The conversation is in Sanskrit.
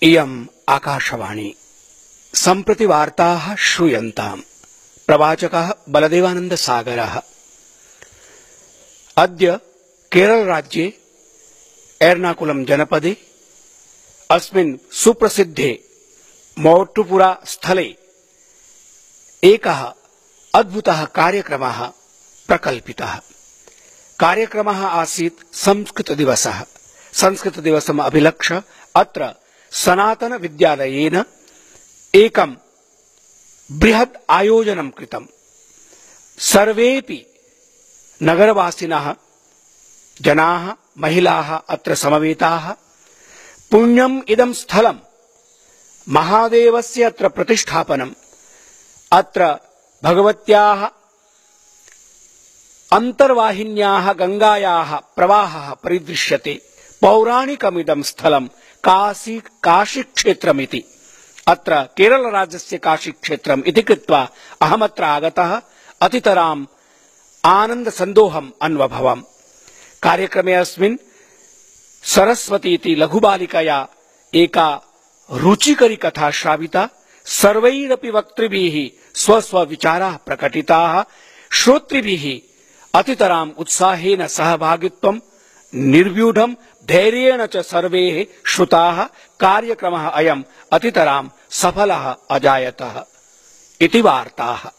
इयम् आकाशवाणी सम्प्रति वार्ताः श्रूयन्ताम्। प्रवाचकः बलदेवानंद सागरः। अद्य केरल राज्ये एर्नाकुलम जनपदे अस्मिन् सुप्रसिद्धे मोट्टुपुरा स्थले एकः अद्भुतः कार्यक्रमः प्रकल्पितः। कार्यक्रमः आसीत् संस्कृतदिवसः। संस्कृतदिवसम् अभिलक्ष्य अत्र सनातन विद्यालयेन एकं बृहत् आयोजनं कृतम्। सर्वेपि नगरवासिनः जनाः महिलाः अत्र समवेताः। पुण्यम् इदं स्थलं महादेवस्य अत्र प्रतिष्ठापनम्, अत्र भगवत्याः अन्तर्वाहिन्याः गंगायाः प्रवाहः परिदृश्यते। पौराणिकमिदं स्थलं काशी क्षेत्रमिति। अत्र केरल राज्यस्य काशी क्षेत्रम् इति कृत्वा अहमत्र आगतः अतितराम् आनन्द सन्दोहम् अन्वभवम्। कार्यक्रमे अस्मिन् सरस्वती इति लघुबालिकया एका रुचिकरी कथा श्राविता। सर्वैरपि वक्तृभिः स्वस्वविचाराः प्रकटिताः। श्रोतृभिः अतितराम् उत्साहेन सहभागित्वम् निर्व्यूढम् धैर्येण च सर्वे श्रुताः। कार्यक्रमः अयम् अतितराम् सफलः अजायत इति वार्ताः।